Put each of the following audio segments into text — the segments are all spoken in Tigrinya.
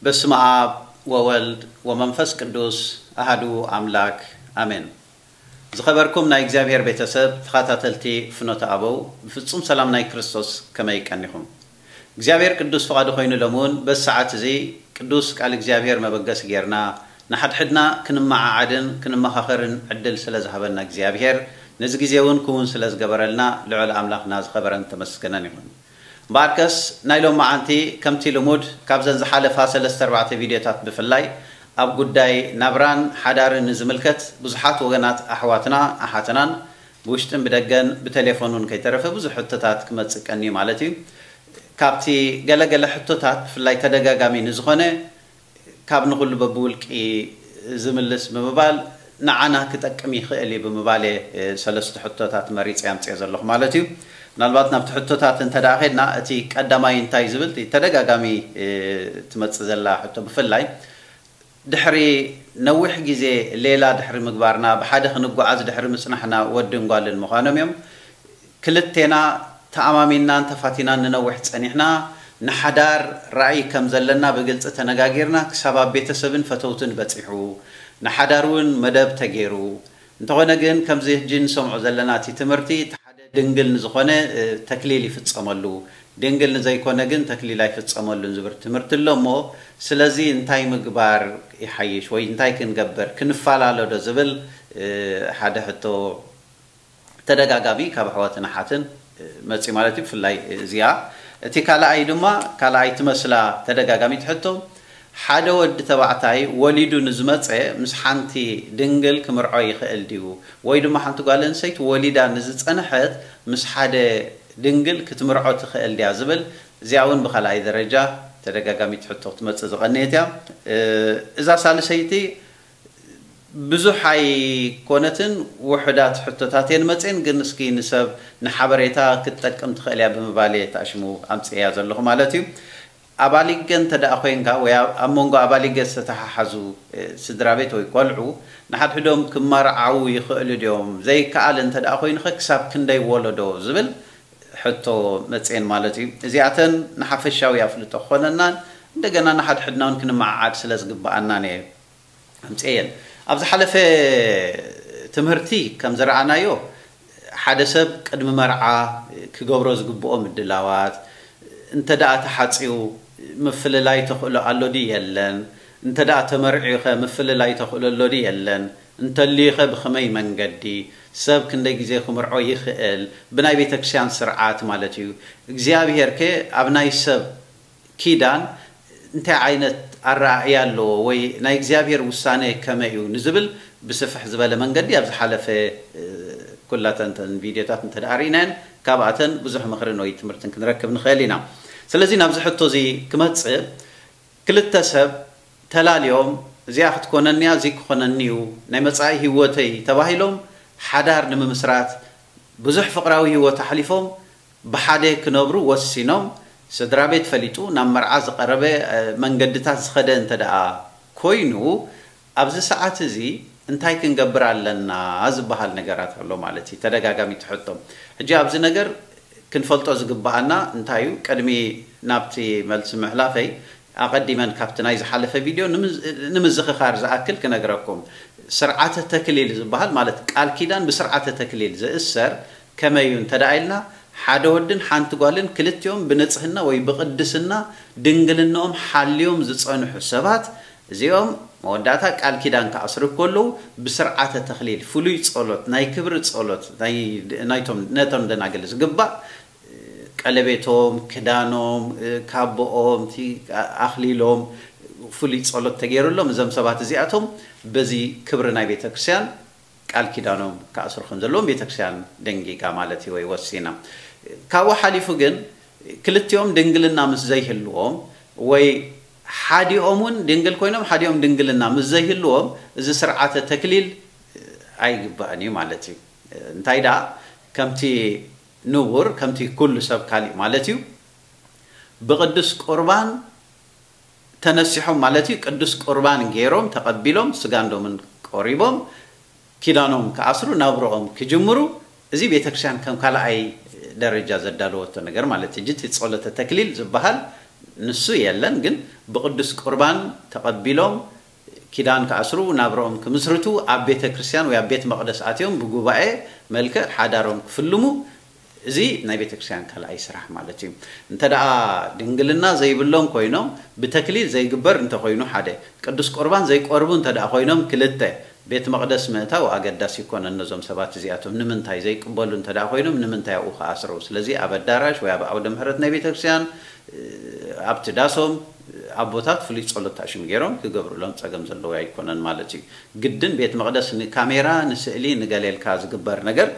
በስመ አብ ወወልድ ወመንፈስ ቅዱስ አሃዱ አምላክ አሜን። ዝኸበርኩም ናይ እግዚኣብሔር ቤተሰብ ተኸታተልቲ ፍኖተ ኣበው፣ ብፍጹም ሰላም ናይ ክርስቶስ ከመይ ቀኒኹም? እግዚኣብሔር ቅዱስ ፍቓዱ ኮይኑ ሎምውን በዚ ሰዓት እዚ ቅዱስ ቃል እግዚኣብሔር መበገሲ ጌርና ንሓድሕድና ክንመዓዓድን ክንመኻኸርን ዕድል ስለ ዝሃበና እግዚኣብሔር፣ ነዚ ግዜ እውን ክውን ስለ ዝገበረልና ልዑል ኣምላኽና ዝኸበረን ተመስገነን ይኹን። እምበኣርከስ ናይ ሎማዓንቲ ከምቲ ልሙድ ካብዘን ዝሓለፋ ሰለስተ ኣርባዕተ ቪድዮታት ብፍላይ ኣብ ጉዳይ ናብራን ሓዳርን ንዝምልከት ብዙሓት ወገናት ኣሕዋትና ኣሓትናን ብውሽጥን ብደገን ብቴሌፎን እውን ከይተረፈ ብዙሕ ሕቶታት ክመጽእ ቀንዩ ማለት እዩ። ካብቲ ገለገለ ሕቶታት ብፍላይ ተደጋጋሚ ንዝኾነ ካብ ንኹሉ በብውልቂ ዝምልስ ብምባል ንዓና ክጠቅም ይኽእል እዩ ብምባል እየ ሰለስተ ሕቶታት መሪፀ ኣምፅኦ ዘለኹ ማለት እዩ። ምናልባት ናብቲ ሕቶታት እንተ ደኣ ኸድና እቲ ቀዳማይ እንታይ ዝብል እቲ ተደጋጋሚ ትመፅእ ዘላ ሕቶ ብፍላይ ድሕሪ ነዊሕ ግዜ ሌላ ድሕሪ ምግባርና ብሓደ ክንጓዓዝ ድሕሪ ምፅናሕና ወድን ጓልን ምዃኖም እዮም። ክልቴና ተኣማሚንናን ተፋቲናን ንነዊሕ ጸኒሕና፣ ንሓዳር ራእይ ከም ዘለና ብግልጺ ተነጋጊርና፣ ክሳብ ኣብ ቤተሰብን ፈተውትን በጺሑ፣ ንሓዳር እውን መደብ ተገይሩ። እንተኾነ ግን፣ ከምዚ ሕጂ ንሰምዖ ዘለና እቲ ትምህርቲ፣ እቲ ሓደ ድንግል ንዝኾነ፣ እ፣ ተክሊል ይፍጸመሉ፣ ድንግል ንዘይኮነ ግን ተክሊል ኣይፍጸመሉን ዝብል ትምህርቲ ኣሎ እሞ፣ ስለዚ እንታይ ምግባር ይሓይሽ ወይ እንታይ ክንገብር፣ ክንፈላለ ዶ ዝብል፣ እ፣ ሓደ ሕቶ ተደጋጋሚ ካብ ኣሕዋትን ኣሓትን መፂ ማለት እዩ። ብፍላይ እዚኣ እቲ ካልኣይ ድማ ካልኣይ ትመስላ ተደጋጋሚ ትሕቶ ሓደ ወዲ ተባዕታይ ወሊዱ ንዝመፀ ምስ ሓንቲ ድንግል ክምርዖ ይኽእል ድዩ? ወይ ድማ ሓንቲ ጓል ኣንስተይቲ ወሊዳ ንዝፀንሐት ምስ ሓደ ድንግል ክትምርዖ ትኽእል ድያ ዝብል እዚኣ እውን ብካልኣይ ደረጃ ተደጋጋሚ ትሕቶ ክትመፅእ ዝቐንየት እያ። እዛ ሳልሰይቲ ብዙሕ ኣይኮነትን ውሑዳት ሕቶታት እየን መፅኤን ግን እስኪ ንሰብ ንሓበሬታ ክትጠቅም ትኽእል እያ ብምባል እየ ተኣሽሙ ኣምፅእያ ዘለኹ ማለት እዩ። ኣባሊገ እንተ ደኣ ኮይንካ ወይ ኣብ መንጎ ኣባሊገ ዝተተሓሓዙ ስድራ ቤት ወይ ቆልዑ ንሓድሕዶም ክመርዓዉ ይኽእሉ ድዮም ዘይከኣል እንተ ደኣ ኮይኑኸ ክሳብ ክንደይ ወለዶ ዝብል ሕቶ መፅኤን ማለት እዩ። እዚኣተን ንሓፈሻዊ ኣፍልጦ ክኾነናን እንደገና ንሓድሕድና እውን ክንመዓዓድ ስለ ዝግበኣናን እየ ኣምፅኤየን። ኣብ ዝሓለፈ ትምህርቲ ከም ዝረኣናዮ ሓደ ሰብ ቅድሚ መርዓ ክገብሮ ዝግብኦ ምድላዋት እንተ ደኣ ተሓፅዩ ምፍልላይ ተኽእሎ ኣሎ ድዩ የለን? እንተ ደኣ ተመርዕዩኸ ምፍልላይ ተኽእሎ ኣሎ ድዩ የለን? እንተልዩኸ ብኸመይ መንገዲ? ሰብ ክንደይ ግዜ ክምርዖ ይኽእል? ብናይ ቤተክርስትያን ስርዓት ማለት እዩ። እግዚኣብሄርከ ኣብ ናይ ሰብ ኪዳን እንታይ ዓይነት ኣረኣእያ ኣለዎ ወይ ናይ እግዚኣብሔር ውሳነ ከመይ እዩ ንዝብል ብስፍሕ ዝበለ መንገዲ ኣብ ዝሓለፈ ኩላተን ተን ቪድዮታት እንተ ደኣ ርኢናየን ካብኣተን ብዙሕ ምኽርን ወይ ትምህርትን ክንረክብ ንኽእል ኢና። ስለዚ ናብዚ ሕቶ እዚ ክመጽእ ክልተ ሰብ ተላልዮም እዚኣ ክትኮነኒ እያ እዚ ክኾነኒ እዩ ናይ መጻኢ ህይወተይ ተባሂሎም ሓዳር ንምምስራት ብዙሕ ፍቕራዊ ህይወት ኣሕሊፎም ብሓደ ክነብሩ ወሲኖም ስድራ ቤት ፈሊጡ ናብ መርዓ ዝቐረበ መንገድታት ዝኸደ እንተ ደኣ ኮይኑ ኣብዚ ሰዓት እዚ እንታይ ክንገብር ኣለና ዝበሃል ነገራት ኣሎ ማለት እዩ። ተደጋጋሚ ትሕቶም ሕጂ ኣብዚ ነገር ክንፈልጦ ዝግብኣና እንታይ እዩ? ቅድሚ ናብቲ መልሲ ምሕላፈይ ኣቐዲመን ካብቲ ናይ ዝሓለፈ ቪድዮ ንምዝኽኻር ዝኣክል ክነግረኩም ስርዓተ ተክሊል ዝበሃል ማለት ቃል ኪዳን ብስርዓተ ተክሊል ዝእሰር ከመይ እዩ እንተ ደኣ ኢልና ሓደ ወድን ሓንቲ ጓልን ክልቲኦም ብንጽህና ወይ ብቕድስና ድንግልናኦም ሓልዮም ዝጸንሑ ሰባት እዚኦም መወዳእታ ቃል ኪዳን ክኣስሩ ከለዉ ብስርዓተ ተክሊል ፍሉይ ጸሎት ናይ ክብሪ ጸሎት ናይቶም ነቶም ደናግል ዝግባእ ቀለቤቶም ክዳኖም ካቦኦም ኣኽሊሎም ፍሉይ ጸሎት ተገይሩሎም እዞም ሰባት እዚኣቶም በዚ ክብሪ ናይ ቤተ ክርስቲያን ቃል ኪዳኖም ክኣስሩ ከም ዘለዎም ቤተ ክርስቲያን ደንጊጋ ማለት እዩ ወይ ወሲና። ካብኡ ሓሊፉ ግን ክልቲኦም ድንግልና ምስ ዘይህልዎም ወይ ሓዲኦም እውን ድንግል ኮይኖም ሓዲኦም ድንግልና ምስ ዘይህልዎም እዚ ስርዓተ ተክሊል ኣይግባእን እዩ ማለት እዩ። እንታይ ደኣ ከምቲ ንቡር ከምቲ ኩሉ ሰብ ካሊእ ማለት እዩ። ብቅዱስ ቁርባን ተነሲሖም ማለት እዩ። ቅዱስ ቁርባን ገይሮም ተቐቢሎም ስጋን ደሙን ቆሪቦም ኪዳኖም ክኣስሩ ናብርኦም ክጅምሩ እዚ ቤተክርስትያን ከም ካልኣይ ደረጃ ዘዳለወቶ ነገር ማለት እዩ። እቲ ጸሎተ ተክሊል ዝበሃል ንሱ የለን፣ ግን ብቅዱስ ቁርባን ተቐቢሎም ኪዳን ክኣስሩ ናብርኦም ክምስርቱ ኣብ ቤተክርስትያን ወይ ኣብ ቤት መቕደስ ኣትዮም ብጉባኤ መልክዕ ሓዳሮም ክፍልሙ እዚ ናይ ቤተክርስትያን ካልኣይ ስራሕ ማለት እዩ። እንተ ደኣ ድንግልና ዘይብሎም ኮይኖም ብተክሊል ዘይግበር እንተኮይኑ ሓደ፣ ቅዱስ ቁርባን ዘይቆርቡ እንተ ደኣ ኮይኖም ክልተ፣ ቤት መቕደስ ምእታው ኣገዳሲ ይኮነን ነዞም ሰባት እዚኣቶም። ንምንታይ ዘይቅበሉ እንተ ደኣ ኮይኖም ንምንታይ ኣብኡ ክኣስረው? ስለዚ ኣብ ኣዳራሽ ወይ ኣብ ዓውደ ምሕረት ናይ ቤተክርስትያን ኣብቲ ዳሶም ኣቦታት ፍሉይ ጸሎት ታሽም ገይሮም ክገብሩሎም ጸገም ዘለዎ ኣይኮነን ማለት እዩ። ግድን ቤት መቕደስ ንካሜራ ንስእሊ ንገሌልካ ዝግበር ነገር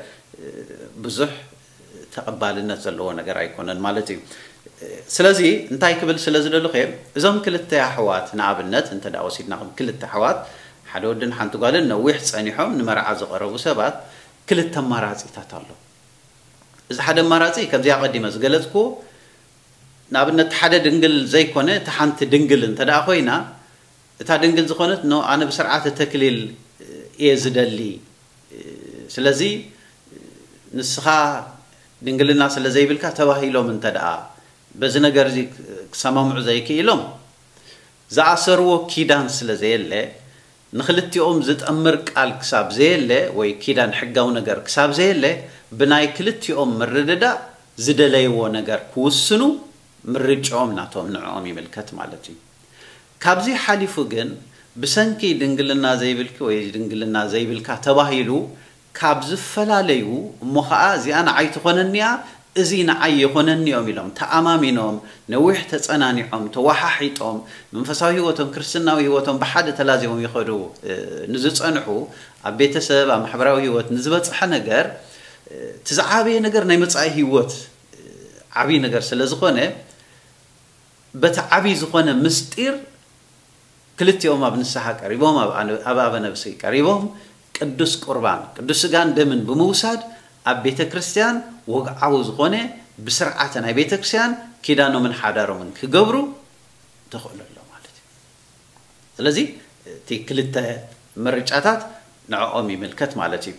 ብዙሕ ተቐባልነት ዘለዎ ነገር ኣይኮነን ማለት እዩ። ስለዚ እንታይ ክብል ስለ ዝደልኹ እየ፣ እዞም ክልተ ኣሕዋት ንኣብነት እንተ ደኣ ወሲድና ከም ክልተ ኣሕዋት ሓደ ወድን ሓንቲ ጓልን ነዊሕ ጸኒሖም ንመርዓ ዝቐረቡ ሰባት ክልተ ኣማራጺታት ኣሎ። እዚ ሓደ ኣማራጺ ከምዚ ኣቐዲመ ዝገለጽኩ ንኣብነት ሓደ ድንግል ዘይኮነ እቲ ሓንቲ ድንግል እንተ ደኣ ኮይና እታ ድንግል ዝኾነት ኖ ኣነ ብስርዓተ ተክሊል እየ ዝደሊ ስለዚ ንስኻ ድንግልና ስለ ዘይብልካ ተባሂሎም እንተ ደኣ በዚ ነገር እዚ ክሰማምዑ ዘይክኢሎም ዝኣሰርዎ ኪዳን ስለ ዘየለ ንክልቲኦም ዝጠምር ቃል ክሳብ ዘየለ ወይ ኪዳን ሕጋዊ ነገር ክሳብ ዘየለ ብናይ ክልቲኦም ምርድዳእ ዝደለይዎ ነገር ክውስኑ ምርጫኦም ናቶም ንዕኦም ይምልከት ማለት እዩ። ካብዚ ሓሊፉ ግን ብሰንኪ ድንግልና ዘይብልኪ ወይ ድንግልና ዘይብልካ ተባሂሉ ካብ ዝፈላለዩ እሞ ኸዓ እዚኣ ንዓይ ትኾነኒ እያ እዚ ንዓይ ይኾነኒ እዮም ኢሎም ተኣማሚኖም ነዊሕ ተጸናኒዖም ተወሓሒጦም መንፈሳዊ ህይወቶም ክርስትናዊ ህይወቶም ብሓደ ተላዚቦም ይኸዱ ንዝጸንሑ ኣብ ቤተሰብ ኣብ ማሕበራዊ ህይወት ንዝበጽሐ ነገር እቲ ዝዓበየ ነገር ናይ መጻኢ ህይወት ዓብዪ ነገር ስለ ዝኾነ በቲ ዓብዪ ዝኾነ ምስጢር ክልቲኦም ኣብ ንስሓ ቀሪቦም ኣብ ኣበ ነብሲ ቀሪቦም ቅዱስ ቁርባን ቅዱስ ስጋን ደምን ብምውሳድ ኣብ ቤተ ክርስትያን ወግዓዊ ዝኾነ ብስርዓተ ናይ ቤተ ክርስትያን ኪዳኖምን ሓዳሮምን ክገብሩ ተኽእሎ ኣሎ ማለት እዩ። ስለዚ እቲ ክልተ ምርጫታት ንዕኦም ይምልከት ማለት እዩ።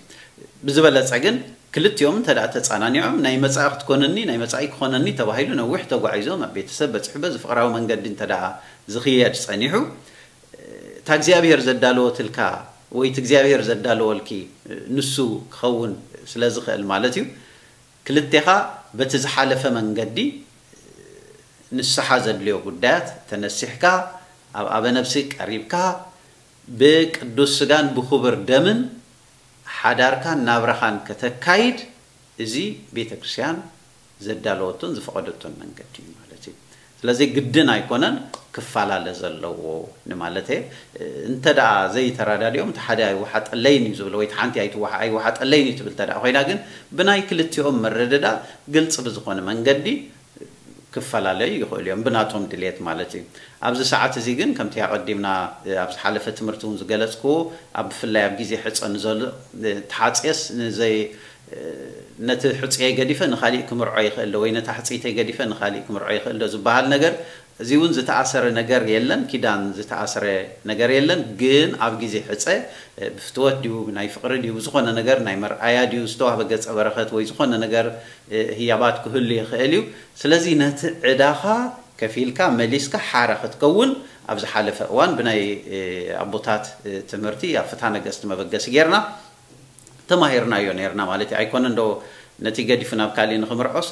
ብዝበለፀ ግን ክልቲኦም እንተ ደኣ ተፃናኒዖም ናይ መፃኢ ክትኮነኒ ናይ መፃኢ ክኾነኒ ተባሂሉ ነዊሕ ተጓዒዞም ኣብ ቤተሰብ በፂሑ በዚ ፍቕራዊ መንገዲ እንተ ደኣ ዝኽየድ ፀኒሑ እታ እግዚኣብሔር ዘዳለወትልካ ወይ እቲ እግዚኣብሔር ዘዳለወልኪ ንሱ ክኸውን ስለ ዝኽእል ማለት እዩ። ክልቴኻ በቲ ዝሓለፈ መንገዲ ንስሓ ዘድልዮ ጉዳያት ተነሲሕካ ኣብ ኣበ ነብሲ ቀሪብካ ብቅዱስ ስጋን ብክቡር ደምን ሓዳርካን ናብራኻን ከተካይድ እዚ ቤተ ክርስትያን ዘዳለወቶን ዝፈቐደቶን መንገዲ እዩ ማለት እዩ። ስለዚ ግድን ኣይኮነን ክፈላለ ዘለዎ ንማለት እየ። እንተ ደኣ ዘይተረዳዲኦም እቲ ሓደ ኣይወሓጠለይን እዩ ዝብል ወይ እቲ ሓንቲ ኣይትወሓ- ኣይወሓጠለይን እዩ ትብል እንተ ደኣ ኮይና ግን ብናይ ክልቲኦም ምርድዳእ ግልፂ ብዝኾነ መንገዲ ክፈላለዩ ይኽእሉ እዮም ብናቶም ድልየት ማለት እዩ። ኣብዚ ሰዓት እዚ ግን ከምቲ ኣቐዲምና ኣብ ዝሓለፈ ትምህርቲ እውን ዝገለፅክዎ ኣብ ብፍላይ ኣብ ግዜ ሕፀ ንዘሎ ተሓፅየስ ንዘይ ነቲ ሕፅየይ ገዲፈ ንኻሊእ ክምርዖ ይኽእል ዶ ወይ ነታ ሕፅይተይ ገዲፈ ንኻሊእ ክምርዖ ይኽእል ዶ ዝበሃል ነገር እዚ እውን ዝተኣሰረ ነገር የለን፣ ኪዳን ዝተኣሰረ ነገር የለን። ግን ኣብ ግዜ ሕፀ ብፍትወት ድዩ ናይ ፍቕሪ ድዩ ብዝኾነ ነገር ናይ መርኣያ ድዩ ዝተዋህበ ገፀ በረኸት ወይ ዝኾነ ነገር ህያባት ክህሉ ይኽእል እዩ። ስለዚ ነቲ ዕዳኻ ከፊልካ መሊስካ ሓራ ክትከውን ኣብ ዝሓለፈ እዋን ብናይ ኣቦታት ትምህርቲ ኣብ ፍትሓ ነገስቲ መበገሲ ጌርና ተማሂርናዮ ነርና ማለት እዩ። ኣይኮነ እንዶ ነቲ ገዲፉ ናብ ካሊእ ንክምርዖስ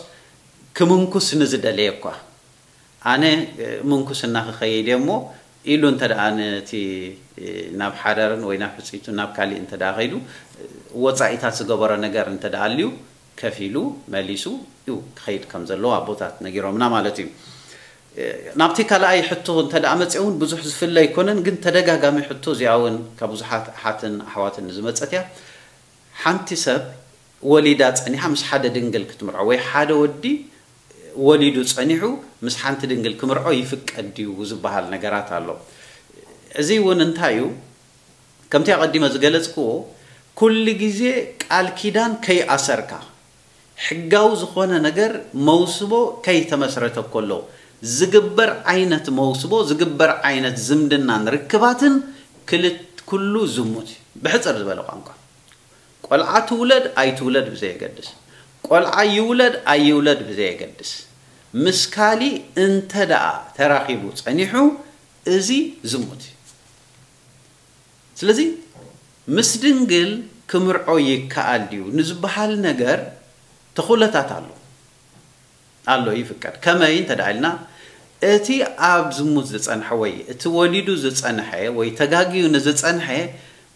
ክምንኩስ ንዝደለየ እኳ ኣነ ምንኩስና ክኸይድ እየ እሞ ኢሉ እንተ ደኣ ነቲ ናብ ሓዳርን ወይ ናብ ሕፅይቱ ናብ ካሊእ እንተ ደኣ ከይዱ ወፃኢታት ዝገበሮ ነገር እንተ ደኣ ኣልዩ ከፊሉ መሊሱ እዩ ክኸይድ ከም ዘለዎ ኣቦታት ነጊሮምና ማለት እዩ። ናብቲ ካልኣይ ሕቶ እንተ ደኣ መፅአ እውን ብዙሕ ዝፍለ ኣይኮነን፣ ግን ተደጋጋሚ ሕቶ እዚኣ እውን ካብ ብዙሓት ኣሓትን ኣሕዋትን ዝመፀት እያ። ሓንቲ ሰብ ወሊዳ ጸኒሓ ምስ ሓደ ድንግል ክትምርዖ ወይ ሓደ ወዲ ወሊዱ ጸኒሑ ምስ ሓንቲ ድንግል ክምርዖ ይፍቀድ ድዩ ዝበሃል ነገራት ኣሎ። እዚ እውን እንታይ እዩ? ከምቲ ኣቐዲመ ዝገለጽክዎ፣ ኩሉ ግዜ ቃል ኪዳን ከይኣሰርካ፣ ሕጋዊ ዝኾነ ነገር መውስቦ ከይተመስረተ ከሎ ዝግበር ዓይነት መውስቦ፣ ዝግበር ዓይነት ዝምድናን ርክባትን ክልት-፣ ኩሉ ዝሙት እዩ። ብሕጽር ዝበለ ቋንቋ፣ ቆልዓ ትውለድ ኣይትውለድ ብዘየገድስ፣ ቆልዓ ይውለድ ኣይውለድ ብዘየገድስ፣ ምስ ካሊእ እንተ ደኣ ተራኺቡ ጸኒሑ፣ እዚ ዝሙት እዩ። ስለዚ ምስ ድንግል ክምርዖ ይከኣል ድዩ ንዝበሃል ነገር ተኹለታት ኣሎ። ኣሎ፣ ይፍቀድ። ከመይ እንተ ደኣ ኢልና፣ እቲ ኣብ ዝሙት ዝጸንሐ ወይ እቲ ወሊዱ ዝጸንሐ ወይ ተጋግዩ ንዝጸንሐ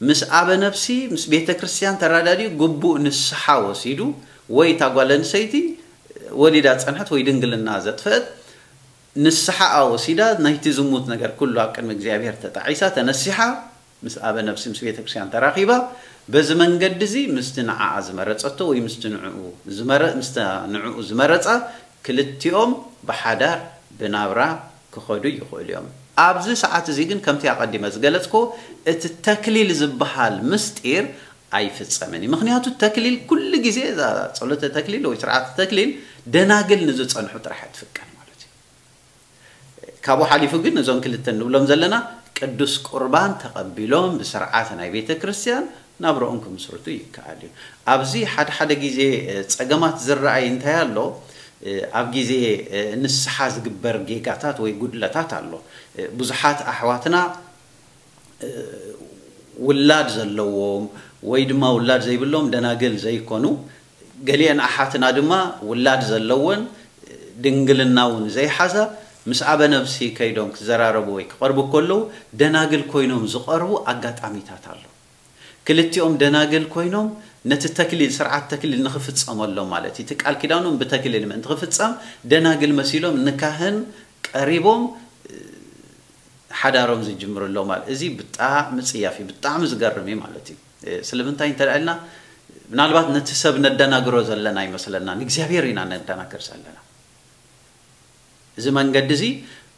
ምስ ኣበ ነፍሲ፣ ምስ ቤተ ክርስቲያን ተራዳዲኡ ግቡእ ንስሓ ወሲዱ፣ ወይ እታ ጓል ኣንስተይቲ ወሊዳ ጸንሐት ወይ ድንግልና ዘጥፈአት ንስሓ ወሲዳ፣ ናይቲ ዝሙት ነገር ኩሉ ኣብ ቅድሚ እግዚኣብሔር ተጣዒሳ፣ ተነሲሓ፣ ምስ ኣበ ነፍሲ ምስ ቤተ ክርስቲያን ተራኺባ፣ በዚ መንገዲ እዚ ምስቲ ንዓኣ ዝመረጸቶ ወይ ምስቲ ንዕኡ ዝመረ-፣ ምስታ ንዕኡ ዝመረጻ ክልቲኦም ብሓዳር ብናብራ ክኸዱ ይኽእሉ እዮም። ኣብዚ ሰዓት እዚ ግን ከምቲ ኣቐዲመ ዝገለጽኮ እቲ ተክሊል ዝበሃል ምስጢር ኣይፍጸምን እዩ። ምኽንያቱ ተክሊል ኩሉ ግዜ እዛ ጸሎተ ተክሊል ወይ ስርዓተ ተክሊል ደናግል ንዝጸንሑ ጥራሕ እያ ትፍቀድ ማለት እዩ። ካብኡ ሓሊፉ ግን እዞም ክልተ ንብሎም ዘለና ቅዱስ ቁርባን ተቐቢሎም ብስርዓት ናይ ቤተ ክርስቲያን ናብረኦም ክምስርቱ ይከኣል እዩ። ኣብዚ ሓደ ሓደ ግዜ፣ እ፣ ጸገማት ዝረኣይ እንታይ ኣሎ? እ፣ ኣብ ግዜ፣ እ፣ ንስሓ ዝግበር ጌጋታት ወይ ጉድለታት ኣሎ። እ፣ ብዙሓት ኣሕዋትና፣ እ፣ ውላድ ዘለዎም ወይ ድማ ውላድ ዘይብሎም ደናግል ዘይኮኑ፣ ገሊአን ኣሓትና ድማ ውላድ ዘለወን ድንግልና እውን ዘይሓዛ ምስ ኣበ ነብሲ ከይዶም ክዘራረቡ ወይ ክቐርቡ ከለዉ ደናግል ኮይኖም ዝቐርቡ ኣጋጣሚታት ኣሎ። ክልቲኦም ደናግል ኮይኖም ነቲ ተክሊል፣ ስርዓት ተክሊል ንኽፍጸመሎም ማለት እዩ። እቲ ቃል ኪዳኖም ብተክሊል ምእንቲ ክፍጸም ደናግል መሲሎም ንካህን ቀሪቦም ሓዳሮም ዝጅምሩ ኣለዉ ማለት። እዚ ብጣዕሚ ጽያፍ እዩ፣ ብጣዕሚ ዝገርም እዩ ማለት እዩ። እ፣ ስለምንታይ እንተ ደኣ ኢልና፣ ምናልባት ነቲ ሰብ ነደናግሮ ዘለና ኣይመስለናን፣ እግዚኣብሔር ኢና ነደናግር ዘለና። እዚ መንገዲ እዚ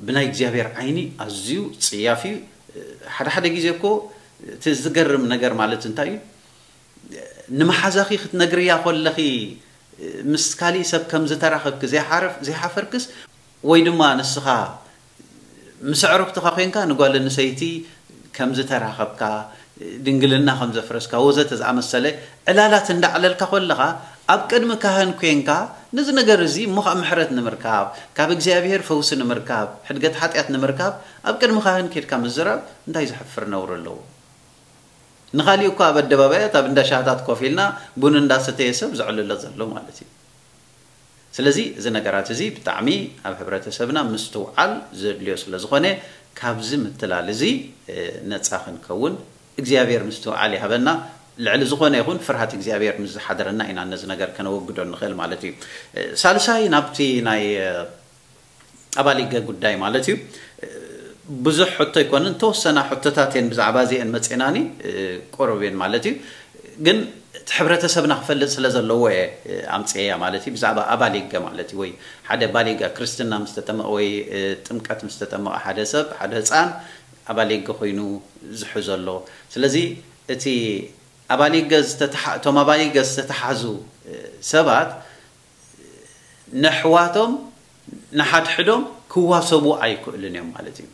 ብናይ እግዚኣብሔር ዓይኒ ኣዝዩ ጽያፍ እዩ። እ፣ ሓደ ሓደ ግዜ እኮ እቲ ዝገርም ነገር ማለት እንታይ እዩ? ንመሓዛኺ ክትነግርያ ከለኺ፣ እ፣ ምስ ካሊእ ሰብ ከም ዝተራኸብኪ ዘይሓረፍ-፣ ዘይሓፈርክስ፣ ወይ ድማ ንስኻ ምስ ኣዕሩኽትኻ ኮይንካ ንጓል ኣንስተይቲ ከም ዝተራኸብካ፣ ድንግልና ከም ዘፍረስካ ወዘተ ዝኣመሰለ ዕላላት እንዳዕለልካ ከለኻ፣ ኣብ ቅድሚ ካህን ኮይንካ ነዚ ነገር እዚ እሞ ኸኣ ምሕረት ንምርካብ፣ ካብ እግዚኣብሔር ፈውሲ ንምርካብ፣ ሕድገት ሓጢኣት ንምርካብ ኣብ ቅድሚ ካህን ኬድካ ምዝራብ እንታይ ዘሕፍር ነውሪ ኣለዎ? ንኻሊእ እኳ ኣብ ኣደባባያት ኣብ እንዳ ሻህታት ኮፍ ኢልና ቡን እንዳሰተየ ሰብ ዘዕልሎ ዘሎ ማለት እዩ። ስለዚ እዚ ነገራት እዚ ብጣዕሚ ኣብ ሕብረተሰብና ምስትውዓል ዘድልዮ ስለ ዝኾነ፣ ካብዚ ምትላል እዚ፣ እ፣ ነጻ ክንከውን እግዚኣብሔር ምስትውዓል ይሃበና። ልዕሊ ዝኾነ ይኹን ፍርሃት እግዚኣብሔር ምስ ዝሓደረና ኢና ነዚ ነገር ከነወግዶ ንኽእል ማለት እዩ። እ፣ ሳልሳይ ናብቲ ናይ፣ እ፣ ኣባሊገ ጉዳይ ማለት እዩ። እ፣ ብዙሕ ሕቶ ኣይኮነን፣ ተወሰና ሕቶታት እየን ብዛዕባ እዚአን መጼናኒ፣ እ፣ ቁሩብ እየን ማለት እዩ። ግን እቲ ሕብረተሰብና ክፈልጥ ስለ ዘለዎ እየ፣ እ፣ ኣምጽኤያ ማለት እዩ። ብዛዕባ ኣባሊገ ማለት እዩ፣ ወይ ሓደ ባሊጋ ክርስትና ምስ ተጠመቐ ወይ፣ እ፣ ጥምቀት ምስ ተጠመቐ ሓደ ሰብ፣ ሓደ ህጻን ኣባሊገ ኮይኑ ዝሕዞ ኣሎ። ስለዚ እቲ ኣባሊገ ዝተተሓ-፣ እቶም ኣባሊገ ዝተተሓዙ፣ እ፣ ሰባት ነሕዋቶም ንሓድሕዶም ክዋሰቡ ኣይክእሉን እዮም ማለት እዩ።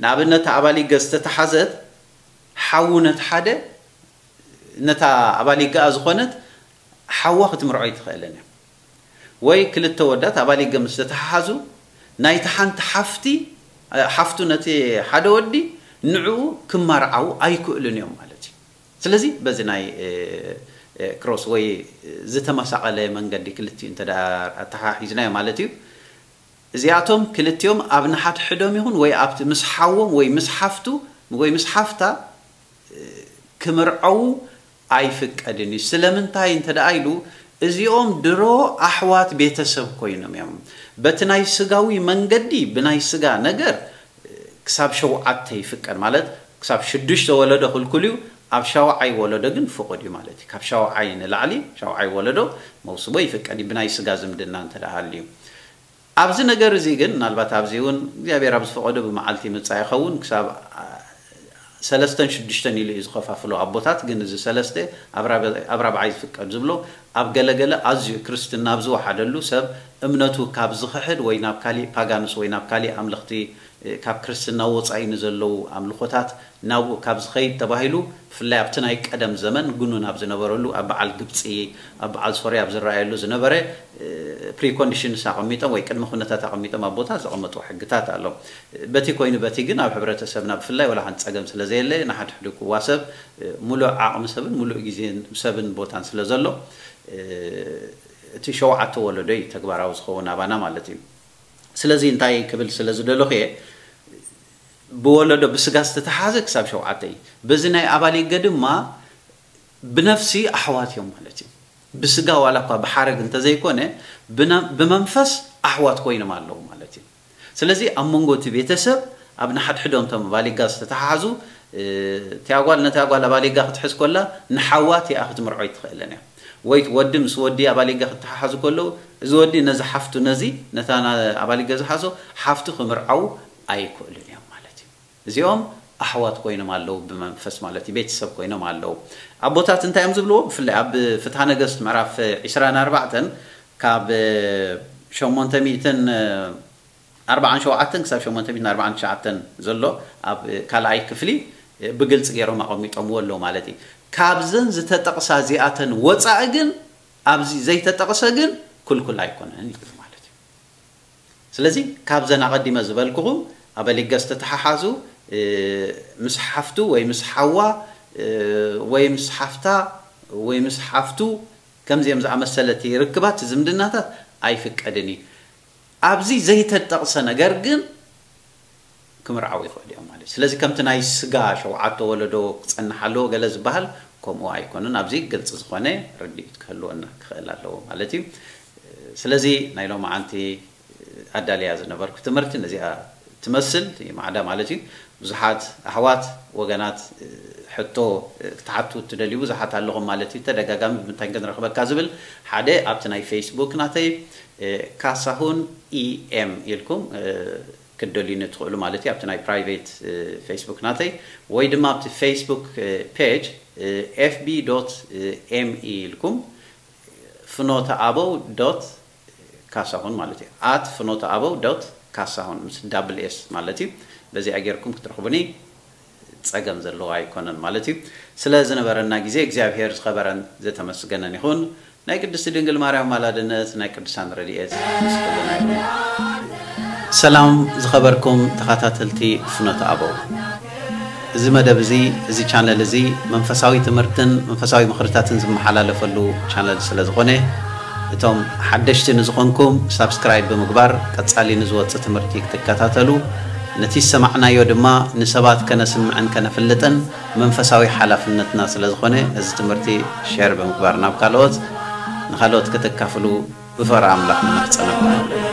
ንኣብነት ኣባሊገ ዝተተሓዘት ሓዉ ነቲ ሓደ፣ ነታ ኣባሊገኣ ዝኾነት ሓዋ ክትምርዖ ኣይትኽእልን እያ። ወይ ክልተ ወዳት ኣባሊገ ምስ ዝተተሓሓዙ ናይቲ ሓንቲ ሓፍቲ፣ ሓፍቱ ነቲ ሓደ ወዲ ንዕኡ ክማርዓዉ ኣይክእሉን እዮም ማለት እዩ። ስለዚ በዚ ናይ፣ እ፣ እ፣ ክሮስ ወይ ዝተመሳቐለ መንገዲ ክልቲኡ እንተ ደኣ ኣተሓሒዝናዮ ማለት እዩ። እዚኣቶም ክልቲኦም ኣብ ንሓድሕዶም ይኹን ወይ ኣብቲ ምስ ሓዎም ወይ ምስ ሓፍቱ ወይ ምስ ሓፍታ፣ እ፣ ክምርዐዉ ኣይፍቀድን እዩ። ስለምንታይ እንተ ደኣ ኢሉ፣ እዚኦም ድሮ ኣሕዋት ቤተሰብ ኮይኖም እዮም። በቲ ናይ ስጋዊ መንገዲ፣ ብናይ ስጋ ነገር፣ እ፣ ክሳብ ሸውዓተ ይፍቀድ፣ ማለት ክሳብ ሽዱሽተ ወለዶ ክልኩል እዩ፣ ኣብ ሻውዓይ ወለዶ ግን ፍቑድ እዩ ማለት እዩ። ካብ ሻውዓይ ንላዕሊ፣ ሻውዓይ ወለዶ መውስቦ ይፍቀድ እዩ፣ ብናይ ስጋ ዝምድና እንተ ደኣ ሃልዩ። ኣብዚ ነገር እዚ ግን ምናልባት ኣብዚ እውን እግዚኣብሔር ኣብ ዝፈቐዶ ብመዓልቲ ይምጻእ ይኸውን። ክሳብ ሰለስተን ሽዱሽተን ኢሉ እዩ ዝኸፋፍሎ ኣቦታት። ግን እዚ ሰለስተ ኣብ ራብዓይ ዝፍቀድ ዝብሎ ኣብ ገለገለ ኣዝዩ ክርስትና ኣብ ዝወሓደሉ ሰብ እምነቱ ካብ ዝኽሕድ ወይ ናብ ካሊእ ፓጋንስ ወይ ናብ ካሊእ ኣምልኽቲ ካብ ክርስትና ወፃኢ ንዘለዉ ኣምልኾታት ናብኡ ካብ ዝኸይድ ተባሂሉ፣ ብፍላይ ኣብቲ ናይ ቀደም ዘመን ግኑን ኣብ ዝነበረሉ ኣብ በዓል ግብፂ ኣብ በዓል ሶርያ ኣብ ዝረኣየሉ ዝነበረ ፕሪኮንዲሽንስ ኣቐሚጦም ወይ ቅድመ ኩነታት ኣቐሚጦም ኣቦታት ዘቐመጥዎ ሕግታት ኣሎ። በቲ ኮይኑ በቲ ግን ኣብ ሕብረተሰብና ብፍላይ ወላ ሓንቲ ፀገም ስለ ዘየለ ንሓድሕዱ ክዋሰብ ሙሉእ ዓቕሚ ሰብን ሙሉእ ግዜን ሰብን ቦታን ስለ ዘሎ እቲ ሸውዓተ ወለዶ እዩ ተግባራዊ ዝኸውን ኣባና ማለት እዩ። ስለዚ እንታይ ክብል ስለ ዝደለኹ እየ፣ ብወለዶ ብስጋ ዝተተሓዘ ክሳብ ሸውዓተ እዩ። በዚ ናይ ኣባሊገ ድማ ብነፍሲ ኣሕዋት እዮም ማለት እዩ። ብስጋ ዋላ እኳ ብሓረግ እንተዘይኮነ ብመንፈስ ኣሕዋት ኮይኖም ኣለዉ ማለት እዩ። ስለዚ ኣብ መንጎ እቲ ቤተሰብ ኣብ ንሓድሕዶም እቶም ኣባሊጋ ዝተተሓሓዙ እቲያ ጓል ነታ ጓል ኣባሊጋ ክትሕዝ ኮላ ንሓዋ እቲኣ ክትምርዖ ኣይትኽእልን እያ። ወይ ወዲ ምስ ወዲ ኣባሊጋ ክተሓሓዙ ከለዉ እዚ ወዲ ነዚ ሓፍቱ ነዚ ነታ ኣባሊጋ ዝሓዞ ሓፍቱ ክምርዓዉ ኣይክእሉን እዮም ማለት እዩ። እዚኦም ኣሕዋት ኮይኖም ኣለዉ ብመንፈስ ማለት እዩ፣ ቤተሰብ ኮይኖም ኣለዉ። ኣቦታት እንታይ እዮም ዝብልዎ? ብፍላይ ኣብ ፍትሐ ነገስት ምዕራፍ ዒስራን ኣርባዕተን ካብ ሸሞንተ ሚእትን ኣርባዓን ሸውዓተን ክሳብ ሸሞንተ ሚእትን ኣርባዓን ትሽዓተን ዘሎ ኣብ ካልኣይ ክፍሊ ብግልፂ ገይሮም ኣቐሚጦምዎ ኣለዉ ማለት እዩ። ካብዘን ዝተጠቕሳ እዚኣተን ወፃኢ ግን ኣብዚ ዘይተጠቕሰ ግን ክልኩል ኣይኮነን ይብል ማለት እዩ። ስለዚ ካብዘን ኣቐዲመ ዝበልኩኹም ኣበሊገ ዝተተሓሓዙ ምስ ሓፍቱ ወይ ምስ ሓዋ ወይ ምስ ሓፍታ ወይ ምስ ሓፍቱ ከምዚኦም ዝኣመሰለ እቲ ርክባት ዝምድናታት ኣይፍቀድን እዩ። ኣብዚ ዘይተጠቕሰ ነገር ግን ክምርዓው ይኽእሉ እዮም ማለት እዩ። ስለዚ ከምቲ ናይ ስጋ ሸውዓተ ወለዶ ክጸንሕ ኣለዎ ገለ ዝበሃል ከምኡ ኣይኮነን። ኣብዚ ግልፂ ዝኾነ ርድኢት ክህልወና ክኽእል ኣለዎ ማለት እዩ። ስለዚ ናይ ሎማዓንቲ ኣዳልያ ዝነበርኩ ትምህርቲ ነዚኣ ትመስል ማዕዳ ማለት እዩ። ብዙሓት ኣሕዋት ወገናት ሕቶ ክትሓቱ እትደልዩ ብዙሓት ኣለኹም ማለት እዩ። ተደጋጋሚ ብምንታይ ክንረኽበካ ዝብል ሓደ ኣብቲ ናይ ፌስቡክ ናተይ ካሳሁን ኢኤም ኢልኩም ክትደልዩኒ ትኽእሉ ማለት እዩ። ኣብቲ ናይ ፕራይቬት ፌስቡክ ናተይ ወይ ድማ ኣብቲ ፌስቡክ ፔጅ fb me ኢልኩም ፍኖተ ኣበው ዶት ካሳሁን ማለት እዩ። ኣት ፍኖተ ኣበው ዶት ካሳሁን ምስ ዳብል ኤስ ማለት እዩ። በዚኣ ጌርኩም ክትረኽቡኒ ጸገም ዘለዎ ኣይኮነን ማለት እዩ። ስለ ዝነበረና ግዜ እግዚኣብሔር ዝኸበረን ዝተመስገነን ይኹን። ናይ ቅድስቲ ድንግል ማርያም ኣማላድነት ናይ ቅዱሳን ረድኤት ምስ ኩልና ይኹን። ሰላም ዝኸበርኩም ተኸታተልቲ ፍኖተ ኣበው፣ እዚ መደብ እዚ እዚ ቻነል እዚ መንፈሳዊ ትምህርትን መንፈሳዊ ምኽርታትን ዝመሓላለፈሉ ቻነል ስለ ዝኾነ እቶም ሓደሽቲ ንዝኾንኩም ሳብስክራይብ ብምግባር ቀጻሊ ንዝወጽእ ትምህርቲ ክትከታተሉ ነቲ ዝሰማዕናዮ ድማ ንሰባት ከነስምዕን ከነፍልጥን መንፈሳዊ ሓላፍነትና ስለ ዝኾነ ነዚ ትምህርቲ ሼር ብምግባር ናብ ካልኦት ንኻልኦት ከተካፍሉ ብፍቕሪ ኣምላኽ ንማሕጸነኩም።